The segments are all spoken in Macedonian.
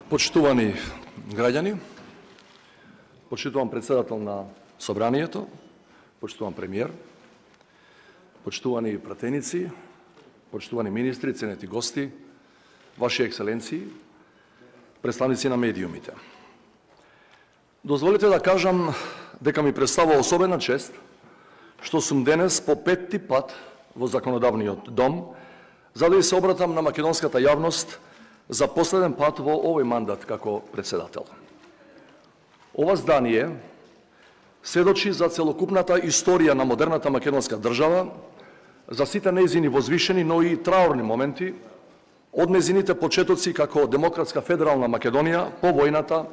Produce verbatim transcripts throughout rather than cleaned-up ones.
Почитувани граѓани, почитуван председател на Собранието, почитуван премиер, почитувани пратеници, почитувани министри, ценети гости, Ваши екселенции, представници на медиумите. Дозволите да кажам дека ми представува особена чест што сум денес по петти пат во законодавниот дом, за да се обратам на македонската јавност за последен пат во овој мандат како председател. Ова здание сведочи за целокупната историја на модерната македонска држава, за сите нејзини возвишени, но и траурни моменти, од нејзините почетоци како демократска федерална Македонија по војната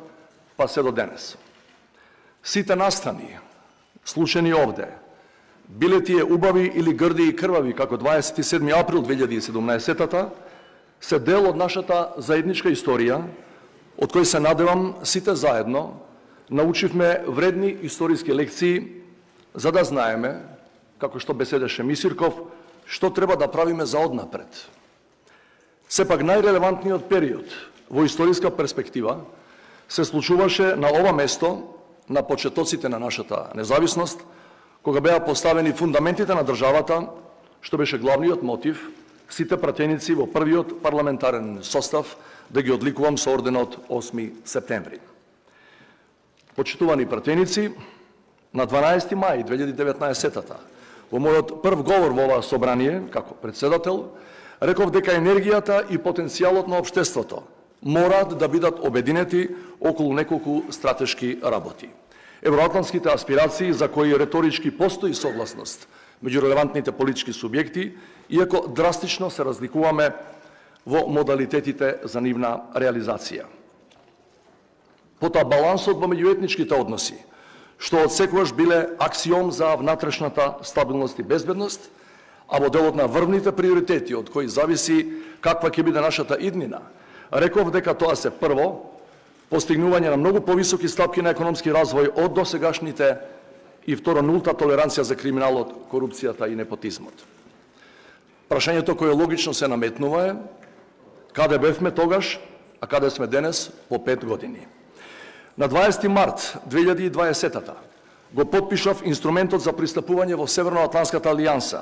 па се до денес. Сите настани, случени овде, биле тие убави или грди и крвави како дваесет и седми април две илјади и седумнаесета, се дел од нашата заедничка историја, од кој се надевам сите заедно научивме вредни историски лекции, за да знаеме, како што беседеше Мисирков, што треба да правиме за однапред. Сепак најрелевантниот период во историска перспектива се случуваше на ова место, на почетоците на нашата независност, кога беа поставени фундаментите на државата, што беше главниот мотив сите пратеници во првиот парламентарен состав да ги одликувам со орденот осми септември. Почитувани пратеници, на дванаести мај две илјади и деветнаесета во мојот прв говор во ова собрание како председател, реков дека енергијата и потенцијалот на општеството мораат да бидат обединети околу неколку стратешки работи. Евроатлантските аспирации за кои реторички постои согласност меѓу релевантните политички субјекти, иако драстично се разликуваме во модалитетите за нивна реализација. Потоа балансот во меѓуетничките односи, што одсекогаш биле аксиом за внатрешната стабилност и безбедност, а во делот на врвните приоритети од кои зависи каква ќе биде нашата иднина, реков дека тоа се прво постигнување на многу повисоки стапки на економски развој од досегашните и второ нулта толеранција за криминалот, корупцијата и непотизмот. Прашањето кое логично се наметнува е каде бевме тогаш, а каде сме денес по пет години. На дваесети март две илјади и дваесета го потпишав инструментот за пристапување во Северноатлантската алијанса,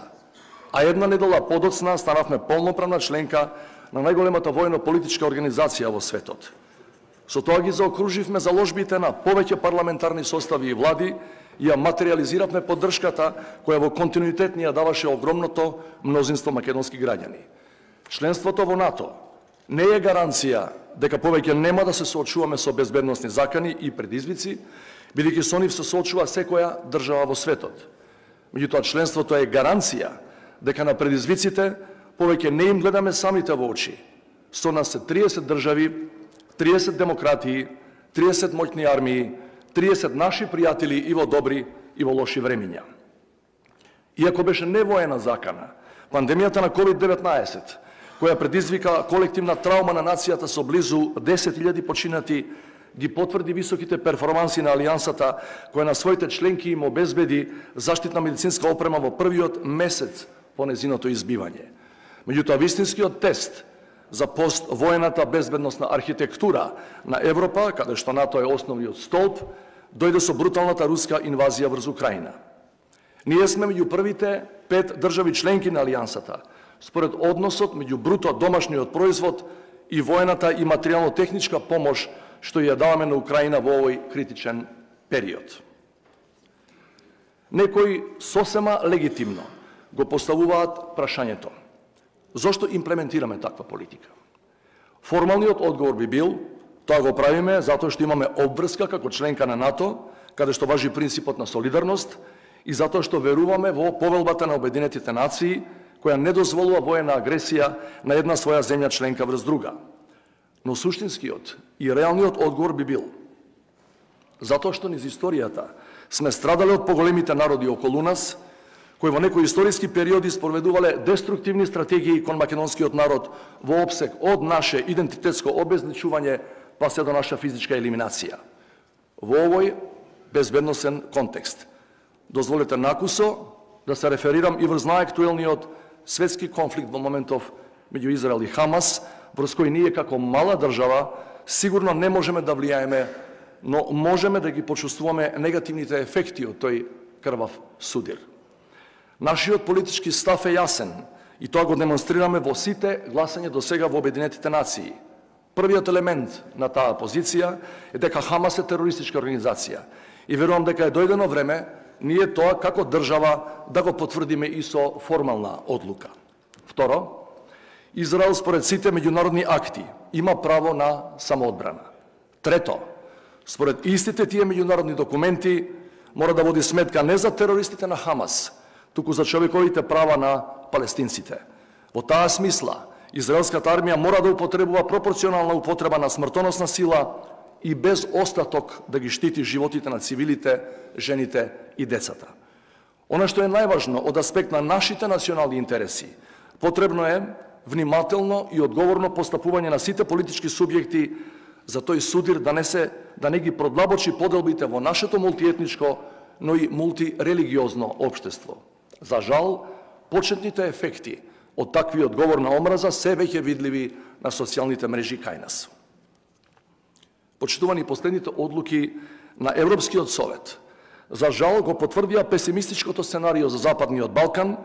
а една недела подоцна станавме полноправна членка на најголемата војно-политичка организација во светот. Со тоа ги заокруживме заложбите на повеќе парламентарни состави и влади и ја материализиравме поддршката која во континуитет ни ја даваше огромното мнозинство македонски граѓани. Членството во НАТО не е гаранција дека повеќе нема да се соочуваме со безбедносни закани и предизвици, бидејќи со нив се соочува секоја држава во светот. Меѓутоа, членството е гаранција дека на предизвиците повеќе не им гледаме самите во очи. Со нас се триесет држави, триесет демократии, триесет моќни армии, триесет наши пријатели и во добри и во лоши времиња. Иако беше невоена закана, пандемијата на ковид деветнаесет, која предизвика колективна траума на нацијата со близу десет илјади починати, ги потврди високите перформанси на Алијансата, која на своите членки им обезбеди заштитна медицинска опрема во првиот месец по незиното избивање. Меѓутоа, вистинскиот тест за поствоената безбедносна архитектура на Европа, каде што НАТО е основниот столб, дојде со бруталната руска инвазија врз Украина. Ние сме меѓу првите пет држави членки на Алијансата, според односот меѓу бруто домашниот производ и воената и материјално-техничка помош што ја даваме на Украина во овој критичен период. Некои сосема легитимно го поставуваат прашањето: зошто имплементираме таква политика? Формалниот одговор би бил: тоа го правиме затоа што имаме обврска како членка на НАТО, каде што важи принципот на солидарност, и затоа што веруваме во повелбата на Обединетите нации, која не дозволува воена агресија на една своја земја членка врз друга. Но суштинскиот и реалниот одговор би бил: затоа што низ историјата сме страдале од поголемите народи околу нас, кои во некои историски периоди спроведувале деструктивни стратегии кон македонскиот народ во опсек од наше идентитетско обезличување па се до наша физичка елиминација. Во овој безбедносен контекст дозволете накусо да се реферирам и врз најактуелниот светски конфликт во моментов меѓу Израел и Хамас, врз кој ние како мала држава сигурно не можеме да влијаеме, но можеме да ги почувствуваме негативните ефекти од тој крвав судир. Нашиот политички став е јасен и тоа го демонстрираме во сите гласања до сега во Обединетите нации. Првиот елемент на таа позиција е дека Хамас е терористичка организација и верувам дека е дојдено време ние тоа како држава да го потврдиме и со формална одлука. Второ, Израел според сите меѓународни акти има право на самоодбрана. Трето, според истите тие меѓународни документи мора да води сметка не за терористите на Хамас, туку за човековите права на палестинците. Во таа смисла, израелската армија мора да употребува пропорционална употреба на смртоносна сила и без остаток да ги штити животите на цивилите, жените и децата. Она што е најважно од аспект на нашите национални интереси, потребно е внимателно и одговорно постапување на сите политички субјекти за тој судир да не се да не ги продлабочи поделбите во нашето мултиетничко, но и мултирелигиозно општество. За жал, почетните ефекти од таквиот говор на омраза се веќе видливи на социјалните мрежи кај нас. Почитувани, последните одлуки на Европскиот совет за жал го потврдија песимистичкото сценарио за Западниот Балкан,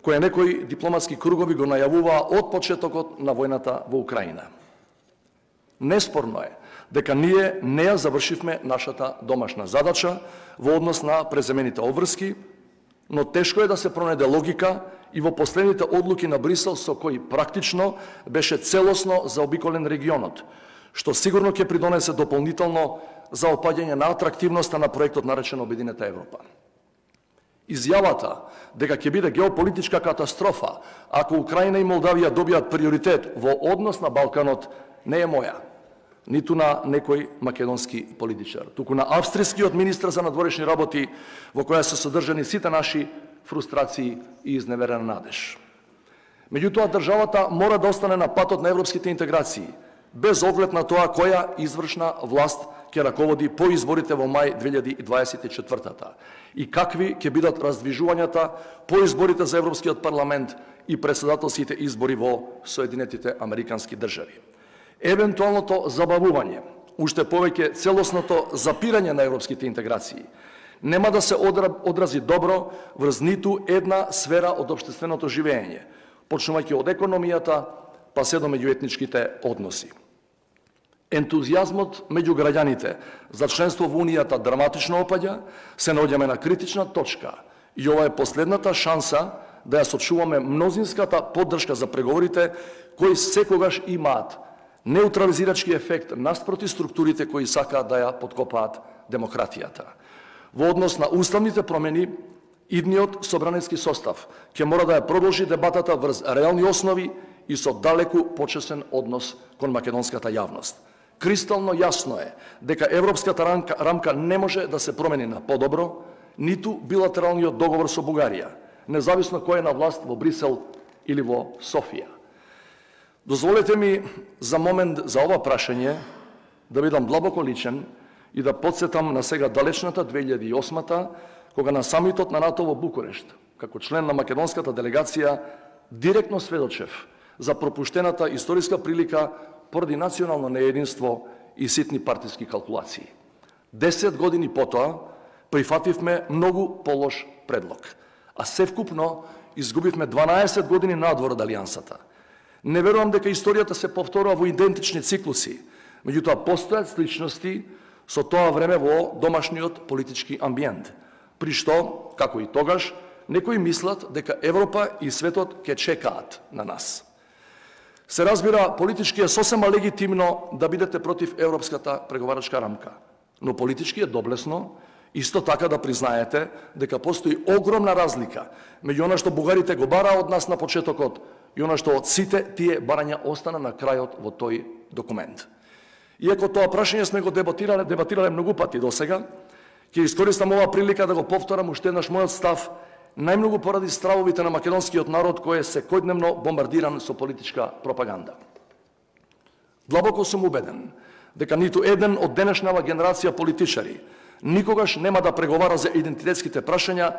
која некои дипломатски кругови го најавуваа од почетокот на војната во Украина. Неспорно е дека ние не ја завршивме нашата домашна задача во однос на преземените обврски, но тешко е да се пронајде логика и во последните одлуки на Брисел со кои практично беше целосно заобиколен регионот, што сигурно ќе придонесе дополнително за опаѓање на атрактивноста на проектот наречен Обединета Европа. Изјавата дека ќе биде геополитичка катастрофа ако Украина и Молдавија добијат приоритет во однос на Балканот не е моја, ниту на некој македонски политичар, туку на австријскиот министар за надворешни работи, во која се содржани сите наши фрустрации и изневерена надеж. Меѓутоа, државата мора да остане на патот на европските интеграции, без оглед на тоа која извршна власт ќе раководи по изборите во мај две илјади дваесет и четвртата и какви ќе бидат раздвижувањата по изборите за Европскиот парламент и председателските избори во Соединетите Американски држави. Евентуалното забавување, уште повеќе целосното запирање на европските интеграции, нема да се одрази добро врз ниту една сфера од општественото живење, почнувајќи од економијата па се до меѓуетничките односи. Ентузијазмот меѓу граѓаните за членство во Унијата драматично опаѓа, се наоѓаме на критична точка и ова е последната шанса да ја сочуваме мнозинската поддршка за преговорите кои секогаш имаат неутрализирачки ефект наспроти структурите кои сакаат да ја подкопаат демократијата. Во однос на уставните промени, идниот собраниски состав ќе мора да ја продолжи дебатата врз реални основи и со далеку почесен однос кон македонската јавност. Кристално јасно е дека европската рамка, рамка не може да се промени на подобро, ниту билатералниот договор со Бугарија, независно кој е на власт во Брисел или во Софија. Дозволете ми за момент за ова прашање да бидам длабоко личен и да подсетам на сега далечната две илјади и осма, кога на самитот на НАТО во Букурешт, како член на македонската делегација, директно сведочев за пропуштената историска прилика поради национално неединство и ситни партиски калкулации. Десет години потоа прифативме многу полош предлог, а севкупно изгубивме дванаесет години надвор од алијансата. Не верувам дека историјата се повторува во идентични циклуси, меѓутоа постојат сличности со тоа време во домашниот политички амбиент, при што, како и тогаш, некои мислат дека Европа и светот ќе чекаат на нас. Се разбира, политички е сосема легитимно да бидете против европската преговарачка рамка, но политички е доблесно исто така да признаете дека постои огромна разлика меѓу она што бугарите го бараа од нас на почетокот и она што од сите тие барања остана на крајот во тој документ. Иако тоа прашање сме го дебатирале, дебатирале многу пати досега, ќе искористам оваа прилика да го повторам уште еднаш мојот став, најмногу поради стравовите на македонскиот народ кој е секојдневно бомбардиран со политичка пропаганда. Длабоко сум убеден дека ниту еден од денешнава генерација политичари никогаш нема да преговара за идентитетските прашања,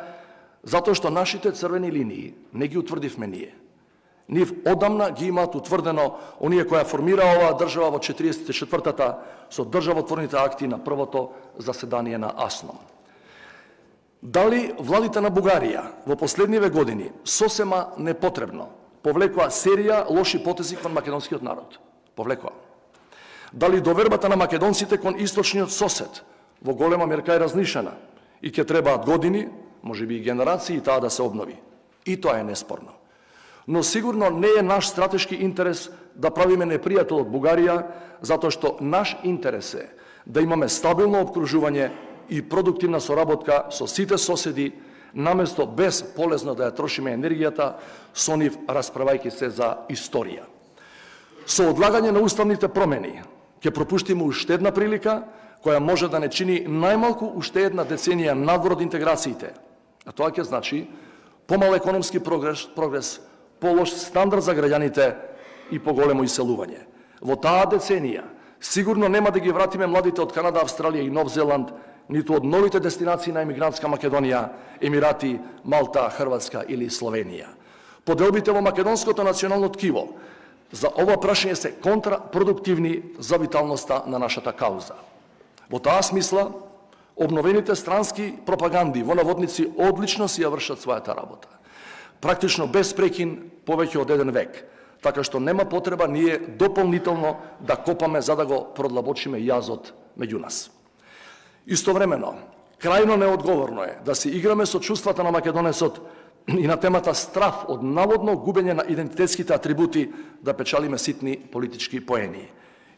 затоа што нашите црвени линии не ги утврдивме ние. Нив одамна ги имаат утврдено оние која формира оваа држава во четириесет и четвртата со државотворните акти на првото заседание на АСНОМ. Дали владите на Бугарија во последниве години сосема непотребно повлекоа серија лоши потези кон македонскиот народ? Повлекоа. Дали довербата на македонците кон источниот сосед во голема мерка е разнишена и ќе требаат години, можеби и генерации, таа да се обнови? И тоа е неспорно. Но сигурно не е наш стратешки интерес да правиме непријател од Бугарија, затоа што наш интерес е да имаме стабилно обкружување и продуктивна соработка со сите соседи, наместо без полезно да ја трошиме енергијата со нив расправајќи се за историја. Со одлагање на уставните промени ќе пропуштиме уште една прилика која може да не чини најмалку уште една деценија надвор од интеграциите, а тоа ќе значи помал економски прогрес, прогрес полош стандард за граѓаните и поголемо иселување. Во таа деценија сигурно нема да ги вратиме младите од Канада, Австралија и Нов Зеланд, ниту од новите дестинации на емигрантска Македонија, Емирати, Малта, Хрватска или Словенија. Поделбите во македонското национално ткиво за ова прашање се контрапродуктивни за виталноста на нашата кауза. Во таа смисла, обновените странски пропаганди во наводници одлично си ја вршат својата работа. Практично без прекин повеќе од еден век, така што нема потреба ние дополнително да копаме за да го продлабочиме јазот меѓу нас. Истовремено, крајно неодговорно е да се играме со чувствата на македонецот и на темата страф од наводно губење на идентитетските атрибути да печалиме ситни политички поени.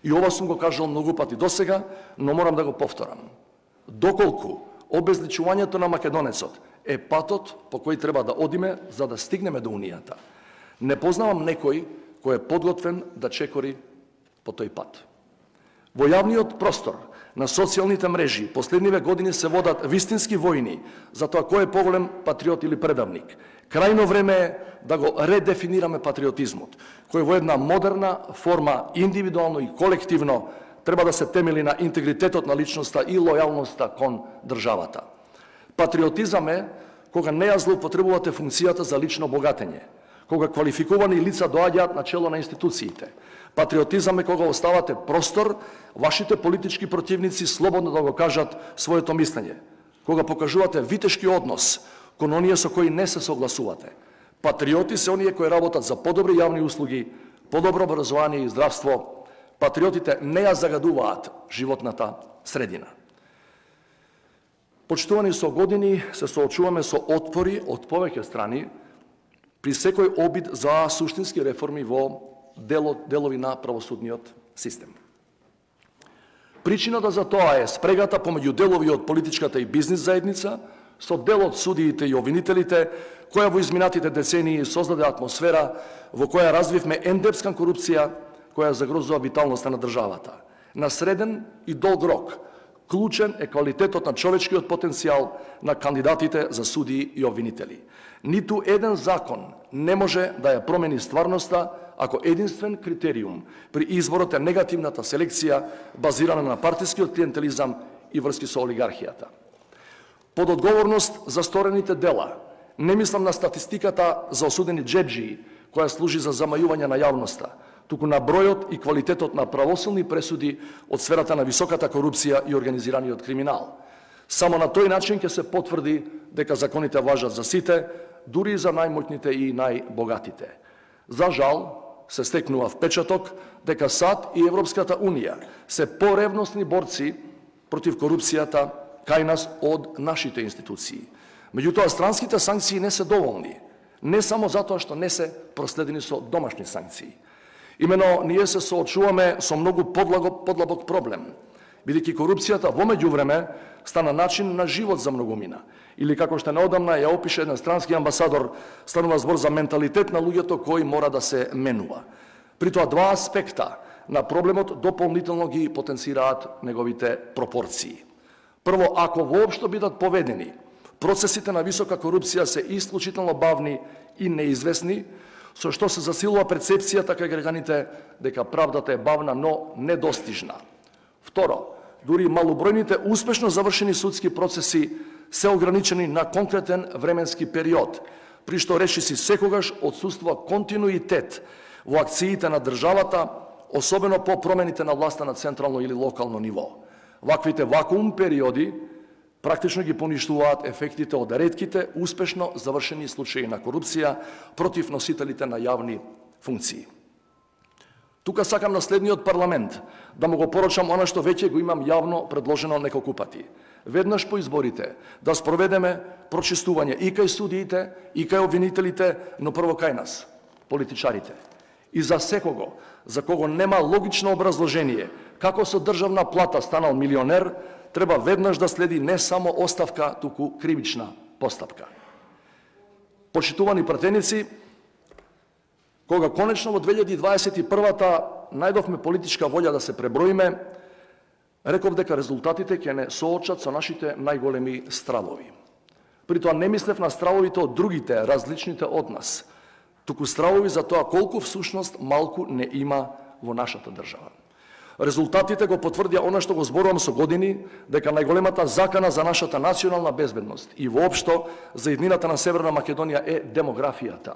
И ова сум го кажал многу пати досега, но морам да го повторам. Доколку обезличувањето на македонецот е патот по кој треба да одиме за да стигнеме до Унијата, не познавам некој кој е подготвен да чекори по тој пат. Во јавниот простор на социјалните мрежи последниве години се водат вистински војни за тоа кој е поголем патриот или предавник. Крајно време е да го редефинираме патриотизмот, кој во една модерна форма, индивидуално и колективно, треба да се темели на интегритетот на личноста и лојалноста кон државата. Патриотизам е кога не ја злоупотребувате функцијата за лично богатење, кога квалификувани лица доаѓаат на чело на институциите. Патриотизам е кога оставате простор вашите политички противници слободно да го кажат своето мислење, кога покажувате витешки однос кон оние со кои не се согласувате. Патриоти се оние кои работат за подобри јавни услуги, подобро образование и здравство. Патриотите не ја загадуваат животната средина. Почитувани со години се соочуваме со отпори од повеќе страни при секој обид за суштински реформи во делот, делови на правосудниот систем. Причината за тоа е спрегата помеѓу делови од политичката и бизнис заедница со дел од судиите и обвинителите, која во изминатите децении создаде атмосфера во која развивме ендепска корупција која загрозува виталноста на државата. На среден и долг рок, клучен е квалитетот на човечкиот потенцијал на кандидатите за судии и обвинители. Ниту еден закон не може да ја промени стварноста ако единствен критериум при изборот е негативната селекција базирана на партискиот клиентелизам и врски со олигархијата. Под одговорност за сторените дела, не мислам на статистиката за осудени джеджии, која служи за замајување на јавноста, туку на бројот и квалитетот на правосилни пресуди од сферата на високата корупција и организираниот криминал. Само на тој начин ќе се потврди дека законите важат за сите, дури и за најмоќните и најбогатите. За жал, се стекнува впечаток дека САД и Европската Унија се поревностни борци против корупцијата кај нас од нашите институции. Меѓутоа, странските санкции не се доволни, не само затоа што не се проследени со домашни санкции. Имено, ние се соочуваме со многу подлабок проблем, бидејќи корупцијата во меѓувреме стана начин на живот за многумина. Или како што неодамна ја опише еден странски амбасадор, станува збор за менталитет на луѓето кој мора да се менува. При тоа два аспекта на проблемот дополнително ги потенцираат неговите пропорции. Прво, ако воопшто бидат поведени, процесите на висока корупција се исклучително бавни и неизвестни, со што се засилува перцепцијата кај граѓаните дека правдата е бавна, но недостижна. Второ, дури малобројните успешно завршени судски процеси се ограничени на конкретен временски период, при што речиси секогаш отсуствува континуитет во акциите на државата, особено по промените на власта на централно или локално ниво. Ваквите вакуум периоди практично ги поништуваат ефектите од ретките успешно завршени случаи на корупција против носителите на јавни функции. Тука сакам на следниот парламент да му го порачам она што веќе го имам јавно предложено неколку пати. Веднаш по изборите да спроведеме прочистување и кај судиите, и кај обвинителите, но прво кај нас, политичарите. И за секого, за кого нема логично образложение како со државна плата станал милионер, треба веднаш да следи не само оставка, туку кривична постапка. Почитувани пратеници, кога конечно во две илјади дваесет и прва најдовме политичка волја да се преброиме, реков дека резултатите ќе не соочат со нашите најголеми стравови. При тоа не мислев на стравовите од другите, различните од нас, туку стравови за тоа колку всушност малку не има во нашата држава. Резултатите го потврдија она што го зборувам со години, дека најголемата закана за нашата национална безбедност и воопшто за иднината на Северна Македонија е демографијата.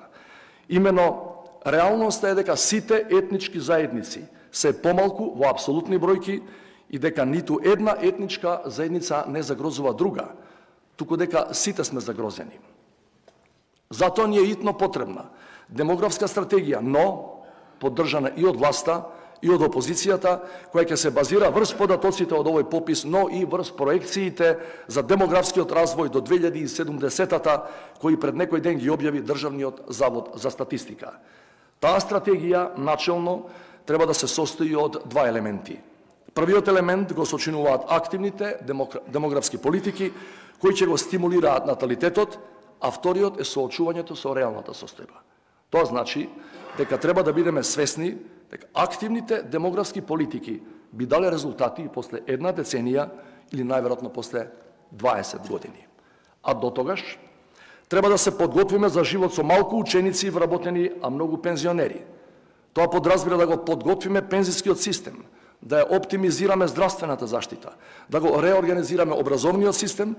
Имено, реалноста е дека сите етнички заедници се помалку во апсолутни бројки и дека ниту една етничка заедница не загрозува друга, туку дека сите сме загрозени. Затоа ни е итно потребна демографска стратегија, но поддржана и од власта, и од опозицијата, која ќе се базира врз податоците од овој попис, но и врз проекциите за демографскиот развој до две илјади и седумдесетата, кои пред некој ден ги објави Државниот завод за статистика. Таа стратегија, начелно, треба да се состои од два елементи. Првиот елемент го сочинуваат активните демографски политики, кои ќе го стимулираат наталитетот, а вториот е соочувањето со реалната состојба. Тоа значи дека треба да бидеме свесни дека активните демографски политики би дали резултати после една деценија или најверојатно после дваесет години. А до тогаш треба да се подготвиме за живот со малку ученици и вработени, а многу пензионери. Тоа подразбира да го подготвиме пензискиот систем, да ја оптимизираме здравствената заштита, да го реорганизираме образовниот систем,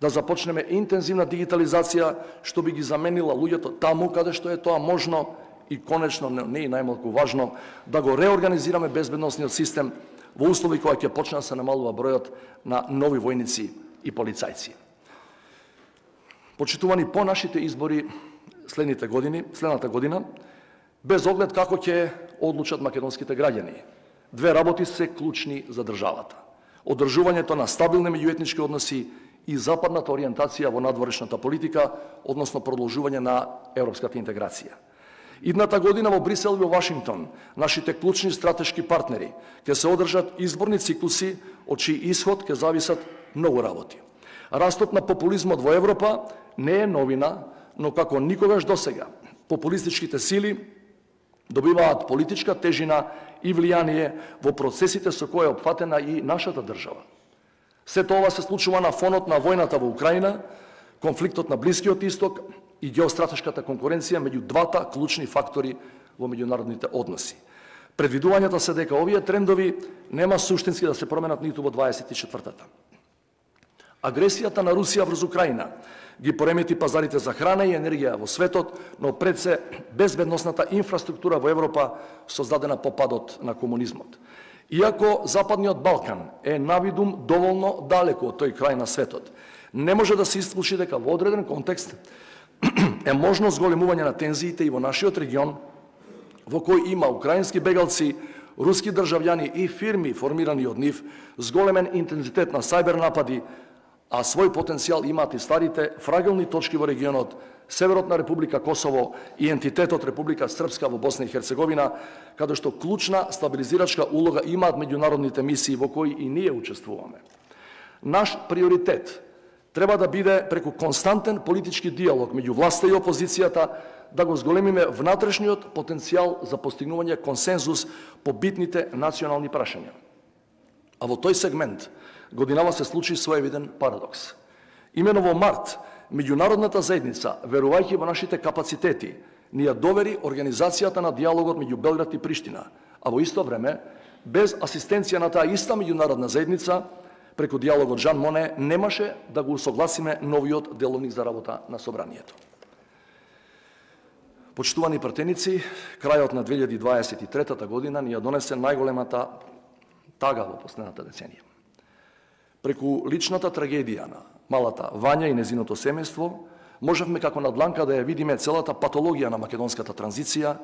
да започнеме интензивна дигитализација, што би ги заменила луѓето таму каде што е тоа можно и конечно, не и најмалку важно, да го реорганизираме безбедносниот систем во услови кои ќе почне да се намалува бројот на нови војници и полицајци. Почитувани, по нашите избори следните години, следната година, без оглед како ќе одлучат македонските граѓани, две работи се клучни за државата. Одржувањето на стабилни меѓуетнички односи и западната ориентација во надворешната политика, односно продолжување на европската интеграција. Идната година во Брисел и во Вашингтон, нашите клучни стратешки партнери, ќе се одржат изборни циклуси, од чиј исход ќе зависат многу работи. Растот на популизмот во Европа не е новина, но како никогаш досега, популистичките сили добиваат политичка тежина и влијание во процесите со кои е опфатена и нашата држава. Сето ова се случува на фонот на војната во Украина, конфликтот на Блискиот Исток и геостратешката конкуренција меѓу двата клучни фактори во меѓународните односи. Предвидувањата се дека овие трендови нема суштински да се променат ниту во дваесет и четвртата. Агресијата на Русија врз Украина ги поремети пазарите за храна и енергија во светот, но пред се безбедносната инфраструктура во Европа создадена по падот на комунизмот. Иако Западниот Балкан е навидум доволно далеко од тој крај на светот, не може да се исклучи дека во одреден контекст е можно зголемување на тензиите и во нашиот регион, во кој има украински бегалци, руски државјани и фирми формирани од нив, зголемен интензитет на сајбер напади, а свој потенцијал имаат и старите фрагилни точки во регионот, Северот на Република Косово и ентитетот Република Српска во Босна и Херцеговина, каде што клучна стабилизирачка улога имаат меѓународните мисии во кои и ние учествуваме. Наш приоритет треба да биде преку константен политички диалог меѓу власта и опозицијата да го зголемиме внатрешниот потенцијал за постигнување консензус по битните национални прашања. А во тој сегмент годинава се случи своевиден парадокс. Имено во март, меѓународната заедница, верувајќи во нашите капацитети, ни ја довери организацијата на диалогот меѓу Белград и Приштина, а во исто време, без асистенција на таа иста меѓународна заедница, преку диалогот Жан Моне, немаше да го усогласиме новиот деловник за работа на Собранието. Почитувани пратеници, крајот на две илјади дваесет и трета година ни ја донесе најголемата тага во последната деценија. Преку личната трагедија на малата Вања и незиното семејство, можевме како на дланка да ја видиме целата патологија на македонската транзиција,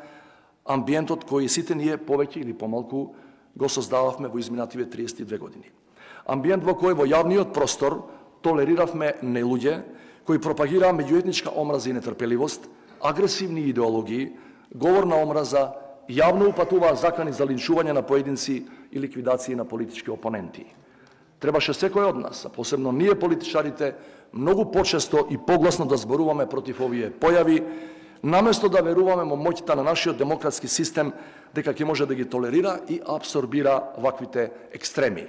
амбиентот кој сите ние повеќе или помалку го создававме во изминативе триесет и две години. Амбиент во кој во јавниот простор толериравме нелуѓе кои пропагираа меѓуетничка омраза и нетрпеливост, агресивни идеологии, говор на омраза, јавно упатуваа закани за линчување на поединци и ликвидација на политички опоненти. Требаше секој од нас, а посебно ние политичарите, многу почесто и погласно да зборуваме против овие појави, наместо да веруваме во моќта на нашиот демократски систем дека ќе може да ги толерира и абсорбира ваквите екстреми.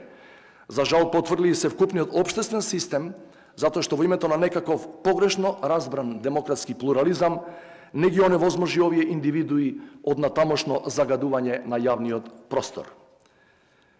За жал потврди и се вкупниот општествен систем, затоа што во името на некаков погрешно разбран демократски плурализам не ги оневозможи овие индивидуи од натамошно загадување на јавниот простор.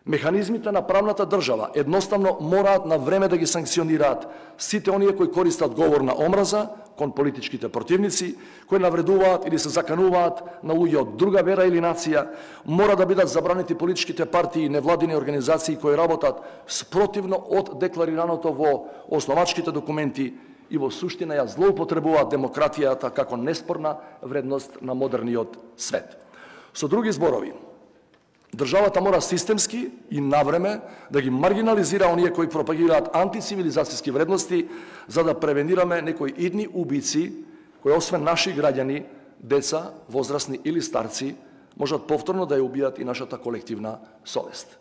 Механизмите на правната држава едноставно мораат на време да ги санкционираат сите оние кои користат говор на омраза кон политичките противници, кои навредуваат или се закануваат на луѓе од друга вера или нација, мора да бидат забранети политичките партии и невладини организации кои работат спротивно од декларираното во основачките документи и во суштина ја злоупотребуваат демократијата како неспорна вредност на модерниот свет. Со други зборови, државата мора системски и навреме да ги маргинализира оние кои пропагираат антицивилизацијски вредности, за да превенираме некои идни убици, кои освен наши граѓани, деца, возрастни или старци, можат повторно да ја убијат и нашата колективна совест.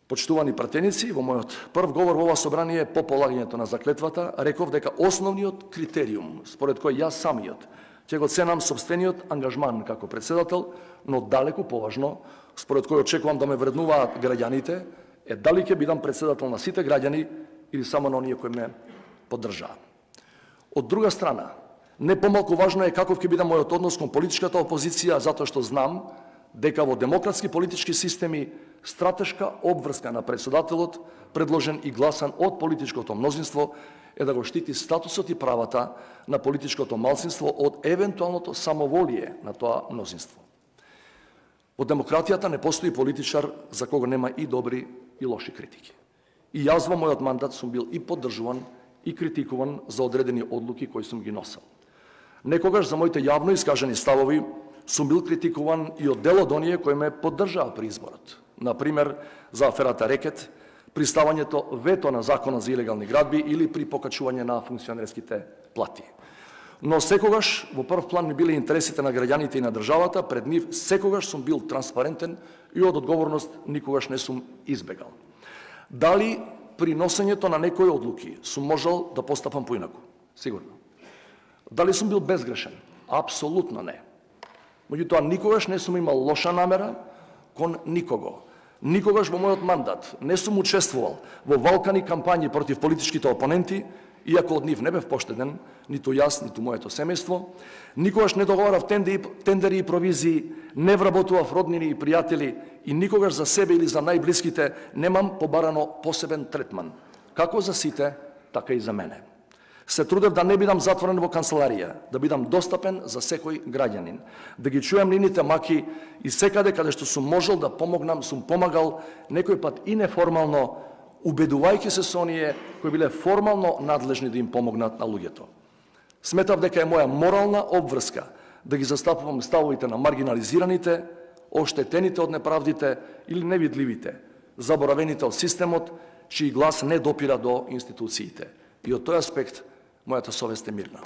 Почитувани пратеници, во мојот прв говор во ова собрание по полагањето на заклетвата, реков дека основниот критериум, според кој јас самиот ќе го ценам собствениот ангажман како председател, но далеку поважно, според кој очекувам да ме вреднуваат граѓаните, е дали ќе бидам председател на сите граѓани или само на оние кои ме поддржаа. Од друга страна, не помалку важно е каков ќе биде мојот однос кон политичката опозиција, затоа што знам дека во демократски политички системи стратешка обврска на председателот, предложен и гласан од политичкото мнозинство, е да го штити статусот и правата на политичкото малцинство од евентуалното самоволие на тоа мнозинство. Во демократијата не постои политичар за кого нема и добри и лоши критики. И јас во мојот мандат сум бил и поддржуван и критикуван за одредени одлуки кои сум ги носел. Некогаш за моите јавно искажани ставови сум бил критикуван и од дел од оние кои ме поддржаа при изборот. Например, за аферата Рекет, при ставањето вето на закона за илегални градби или при покачување на функционерските плати. Но секогаш во прв план ми биле интересите на граѓаните и на државата, пред нив секогаш сум бил транспарентен и од одговорност никогаш не сум избегал. Дали при носењето на некои одлуки сум можел да постапам поинаку? Сигурно. Дали сум бил безгрешен? Апсолутно не. Меѓутоа, никогаш не сум имал лоша намера кон никого. Никогаш во мојот мандат не сум учествувал во валкани кампањи против политичките опоненти, иако од нив не бев поштеден, ниту јас, ниту моето семејство. Никогаш не договарав тендери и провизии, не вработував роднини и пријатели и никогаш за себе или за најблиските немам побарано посебен третман, како за сите, така и за мене. Се трудев да не бидам затворен во канцеларија, да бидам достапен за секој граѓанин, да ги чуем нивните маки и секаде каде што сум можел да помогнам, сум помагал, некој пат и неформално, убедувајќи се со оние кои биле формално надлежни да им помогнат на луѓето. Сметав дека е моја морална обврска да ги застапувам ставовите на маргинализираните, оштетените од неправдите или невидливите, заборавените од системот, чиј глас не допира до институциите. И од тој аспект мојата совест е мирна.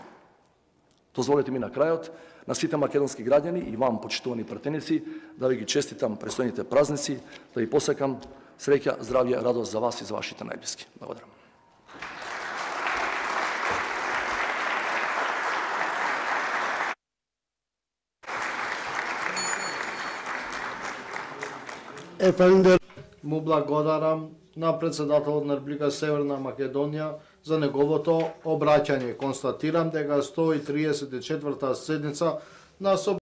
Дозволете ми на крајот на сите македонски граѓани и вам, почитувани пратеници, да ви ги честитам престојните празници, да ви посекам среќа, здравје, радост за вас и за вашите најблиски. Благодарам. Ефендер, му благодарам на председателот на Република Северна Македонија за неговото обраќање. Констатирам дека сто и триесет и четврта седница на